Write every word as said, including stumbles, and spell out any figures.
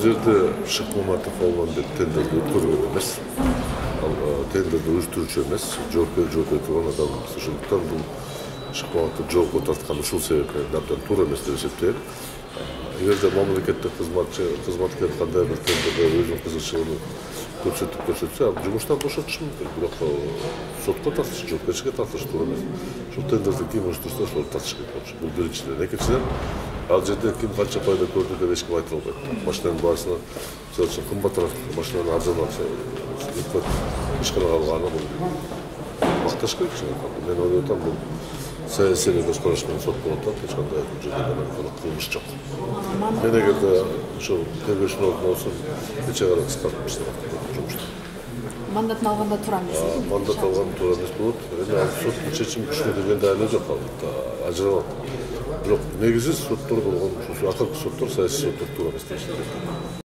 жерде Шыкмаматов алган деп тендерди өткөргөн эмес. Ал тендерди уюштуруучу эмес, жоопкер жооп бере турган адам. Ошондуктан бул Шыкмаматовду жоопко тарткан ушул себептен абдан туура эмес деп эсептейм. Эгерде мамлекеттик кызматчы кызматкер кандай бир тендерде өзүнүн кызыкчылыгын көрсөтүп көрсөтсө, ал жумуштан бошотушу мүмкүн. Бирок сотко тартыш, жоопкерчиликке тартыш туура эмес. Ошол тендерди ким уюштурса, ошол тартыш керек болчу. Бул биринчиден. Экинчиден, ал жерде ким канча пайда көрдү деп эч ким айта албайт. Машинанын баасына мисалы үчүн кымбатыраак машинаны арзан алса, ишкана калганы бул макташ керек. Мен ойлойт атам, бул саясий көз караш менен сот болуп атат, эч кандай жерде кылмыш жок. Мен эгерде ошол тергөөчүнүн ордуна болсом, нече кара кыскартып иштеп жумушту. Мандатын алганда туура эмес. Мандат алган туура эмес болот. Эми ал соттун чечими күчүнө дегенде айла жок, ал ажыралат. Бирок негизи соттор болгон, ушул акыркы соттор, саясий соттор туура эмес деп эсептейм.